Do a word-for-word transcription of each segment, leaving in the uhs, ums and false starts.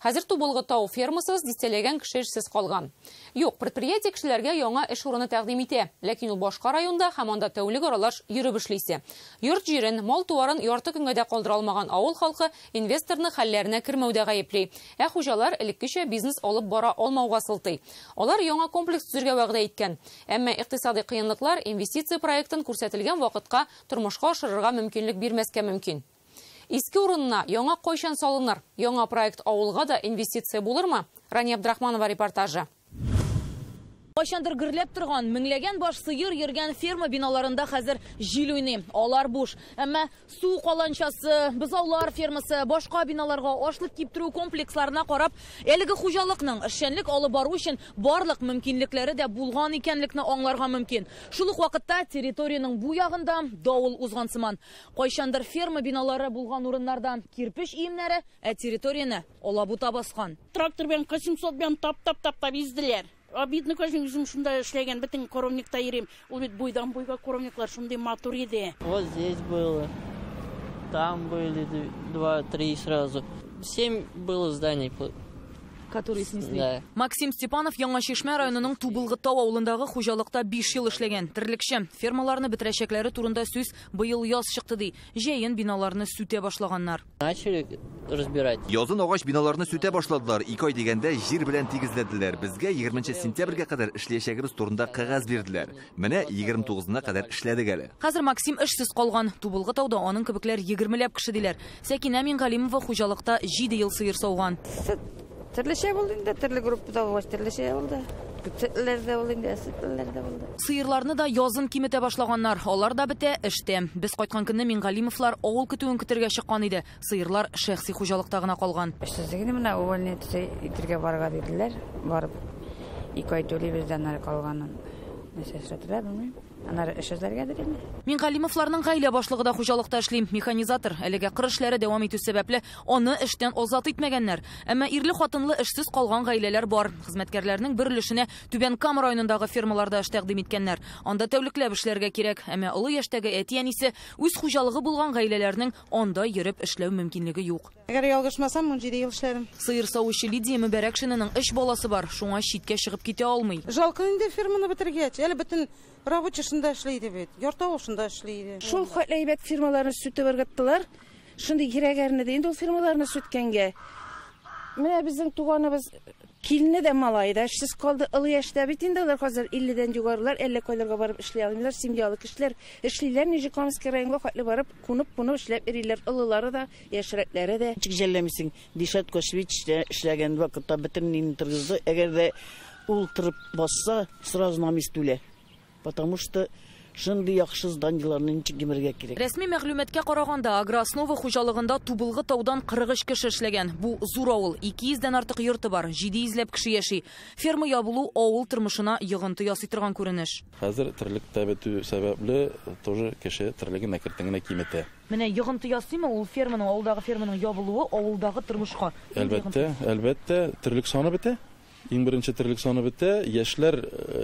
Хәзер Тубылгы тау фермасыз дистәләгән кеше эшсез калган. Юк, предприятие кешеләргә яңа эш урыны тәкъдим итә, ләкин ул башка районда һәм анда тәүлек аралаш йөреп эшлисе. Йорт җирен, мал-туарын ярты көнгә дә калдыра алмаган авыл халкы инвесторны хәлләренә кермәүдә гаепли. Ә хуҗалар элеккечә бизнес алып бара алмауга сылтый. Алар яңа комплекс төзергә вәгъдә иткән. Әмма икътисади кыенлыклар инвестиция проектын күрсәтелгән вакытка тормышка ашырырга мөмкинлек бирмәскә мөмкин. Иске урынына яңа кайчан салыныр? Яңа проект авылга да инвестиция булырмы? Рания Абдрахманова репортажы. Кайчандыр гөрләп торган, меңләгән баш сыер йөргән ферма биналарында хәзер җил уйный. Алар буш. Әмма су каланчасы, бозаулар фермасы, башка биналарга ашлык киптерү комплексларына карап, әлеге хуҗалыкның эшчәнлек алып бару өчен барлык мөмкинлекләре дә булган икәнлекне аңларга мөмкин. Шул ук вакытта территориянең бу ягында давыл узган сыман. Кайчандыр ферма биналары булган урыннарда кирпеч өемнәре, ә территорияне алабута баскан. Трактор белән восемьсот белән тап-тап-тап изделәр. Обидно, конечно, үзем шунда эшләгән, бөтен коровникта йөрим. Ул бит буйдан буйга коровниклар шундый матур иде. Вот здесь было, там были два-три сразу. Семь было зданий, которые снесли. Да. Максим Степанов Яңа Чишмә районының Тубылгы тау авылындагы хуҗалыкта биш ел эшләгән. Терлекче. Фермаларны бетерәчәкләре турында сүз быел яз чыкты ди. Җәен биналарны сүтә башлаганнар. Начали разбирать. Язын агач биналарны сүтә башладылар. Ике ай дигәндә җир белән тигезләделәр. Безгә егерменче сентябрьгә кадәр эшләячәгебез турында кәгазь бирделәр. Менә егерме тугызына кадәр эшләдек әле. Хәзер Максим эшсез калган. Тубылгы тауда аның кебекләр егермеләп кеше диләр. Сәкинә Мингалимова хуҗалыкта җиде ел сыер сауган. Төрлечә булды инде, төрле группада булгач, төрлечә булды. Күпсетләр дә булды инде, әсетләр дә булды. Сыерларны да язын киметә башлаганнар. Алар да бетә эштә. Без кайткан көнне Мингалимовлар авыл көтүен көтергә чыккан иде. Сыерлар шәхси хуҗалыкта гына калган. Эшсезлегне менә увольнение итергә барырга диделәр. Барып ике ай түлибез дә аннары калганын. Нәрсә эшләтелә, белмим. Аннары эш эзләргәдер инде. Мингалимовларның гаилә башлыгы да хуҗалыкта эшли. Механизатор. Әлегә кыр эшләре дәвам итү сәбәпле аны эштән азат итмәгәннәр. Әмма ирле-хатынлы эшсез калган гаиләләр бар. Хезмәткәрләрнең бер өлешенә Түбән Кама районындагы фермаларда эш тәкъдим иткәннәр. Анда тәүлекләп эшләргә кирәк. Әмма олы яшьтәге әти-әнисе үз хуҗалыгы булган гаиләләрнең анда йөреп эшләү мөмкинлеге юк. Әгәр ялгышмасам, унҗиде ел эшләрем. Сыер савучы Лидия Мөбәрәкшинаның өч баласы бар, шуңа читкә чыгып китә алмый. Жалко инде ферманы бетергәч. Әле бөтен рабочий шунда эшли иде бит. Ярты авыл шунда эшли иде. Шул хәтле әйбәт фирмаларны сүтеп ыргыттылар. Шундый кирәгәрне дә инде ул фирмаларны сүткәнгә. Менә безнең туганыбыз килене дә малай да эшсез калды. Олы яшьтә бит инде алар хәзер илледән югарылар, әллә кайларга барып эшли алмыйлар. Семьялы кешеләр эшлиләр, Нижнекамский районга хәтле барып, кунып-кунып эшләп йөриләр. Олылары да, яшьрәкләре дә. Ничек жәлләмисең? Дишат Кошвич эшләгән вакытта бөтен нин торгызды. Әгәр дә ул торып басса, сразу намис түлә. Потому что шундый яхшы зданиеларны ничек гимергә кирәк. Рәсми мәгълүматка караганда, Агрооснова хуҗалыгында Тубылгы таудан кырык өч кеше эшләгән. Бу зур авыл, ике йөздән артык йорты бар, җиде йөзләп кеше яши. Ферма ябылу авыл тормышына йогынты ясый торган күренеш. Хәзер терлек тә бетү сәбәпле тоже кеше терлеген әкрен генә киметә. Менә йогынты ясыймы ул ферманың, авылдагы ферманың ябылуы авылдагы тормышка? Әлбәттә, әлбәттә, терлек саны бетә. Иң беренче терлек саны бетә, яшьләр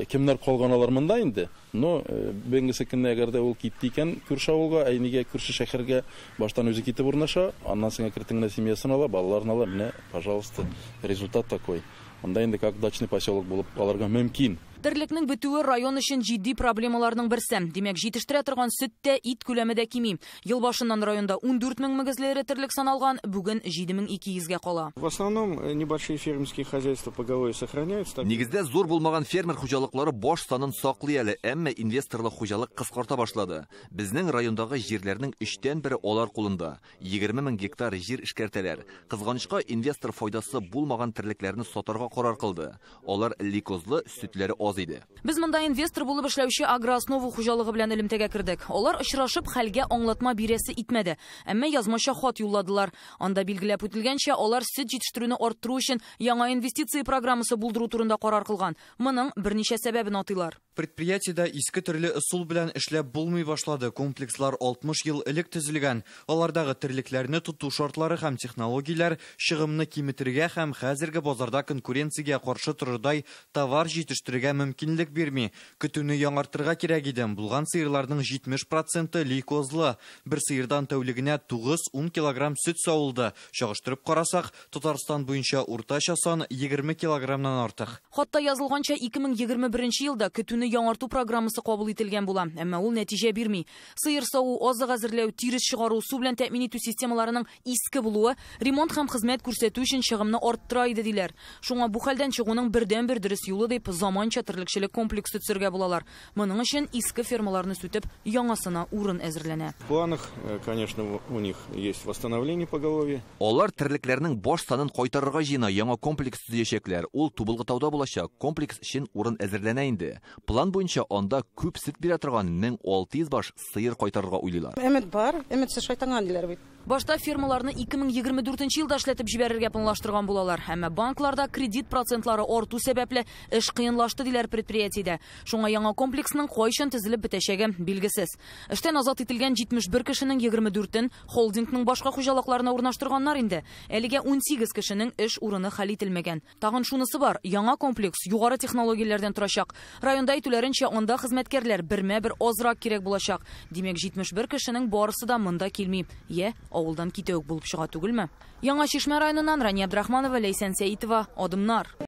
кемнәр калган алар монда инде. Но бүгенге көндә әгәр дә ул китте икән күрше авылга, әй нигә күрше шәһәргә баштан үзе китеп урнаша, аннан соң әкрен генә семьясын ала, балаларын ала, менә, пожалуйста, результат такой. Монда инде как дачный поселок булып аларга мөмкин. Терлекнең бетүе район өчен җитди проблемаларның берсе. Димәк, җитештерә торган сөт тә, ит күләме дә кими. Ел башыннан районда ундүрт мең мөгезле эре терлек саналган, бүген җиде мең ике йөзгә кала. В основном небольшие фермерские хозяйства поголовье сохраняются. Нигездә зур булмаган фермер хуҗалыклары баш санын саклый әле, әмма инвесторлык хуҗалык кыскарта башлады. Безнең райондагы җирләрнең өчтән бере алар кулында. Егерме мең гектар җир эшкәртәләр. Кызганычка, инвестор файдасы булмаган терлекләрне сатарга карар кылды. Алар лейкозлы, сөтләре аз иде. Без монда инвестор булып эшләүче Агрооснова хуҗалыгы белән элемтәгә кердек. Алар очрашып хәлгә аңлатма бирәсе итмәде. Әмма язмача хат юлладылар. Анда билгеләп үтелгәнчә, алар сөт җитештерүне арттыру өчен яңа инвестиция программасы булдыру турында карар кылган. Моның берничә сәбәбен атыйлар. Предприятиедә иске төрле ысул белән эшләп булмый башлады. Комплекслар алтмыш ел элек төзелгән. Алардагы терлекләрне тоту шартлары һәм технологияләр чыгымны киметергә һәм хәзерге базарда конкуренциягә каршы торырдай товар җитештерергә мөмкинлек бирми. Көтүне яңартырга кирәк иде. Булган сыерларның җитмеш проценты лейкозлы. Бер сыердан тәүлегенә тугыз-ун килограмм сөт савылды. Чагыштырып карасак, Татарстан буенча уртача сан егерме килограммнан артык. Хатта язылганча, ике мең егерме беренче елда көтүне яңарту программасы кабул ителгән була, әмма ул нәтиҗә бирми. Сыер саву, азык әзерләү, тирес чыгару, су белән тәэмин итү системаларының иске булуы ремонт һәм хезмәт күрсәтү өчен чыгымны арттыра иде диләр. Шуңа бу хәлдән чыгуның бердәнбер дөрес юлы дип заманча терлекчелек комплексы төзергә булалар. Моның өчен иске фермаларны сүтеп, яңасына урын әзерләнә. В планах, конечно, у них есть восстановление поголовья. Алар терлекләрнең баш санын кайтарырга җыена, яңа комплекс төзәчәкләр. Ул Тубылгытауда булачак. Комплекс өчен урын әзерләнә инде. План буенча анда күп сөт бирә торган мең алты йөз баш сыер кайтарырга уйлыйлар. Өмет бар, өметсез шайтанга диләр бит. Башта фермаларны ике мең егерме дүртенче елда эшләтеп җибәрергә планлаштырган булалар. Әмма банкларда кредит процентлары арту сәбәпле эш кыенлашты диләр предприятиедә. Шуңа яңа комплексның кайчан төзелеп бетәчәге билгесез. Эштән азат ителгән җитмеш бер кешенең егерме дүртен холдингның башка хуҗалыкларына урнаштырганнар инде. Әлегә унсигез кешенең эш урыны хәл ителмәгән. Тагын шунысы бар, яңа комплекс югары технологияләрдән торачак. Районда әйтүләренчә, анда хезмәткәрләр бермә-бер азрак кирәк булачак. Димәк, җитмеш бер кешенең барысы да монда килми. Йә, авылдан китә үк булып чыга түгелме? Яңа Чишмә районыннан Рания Абдрахманова, Ләйсән Сәитова, Адымнар.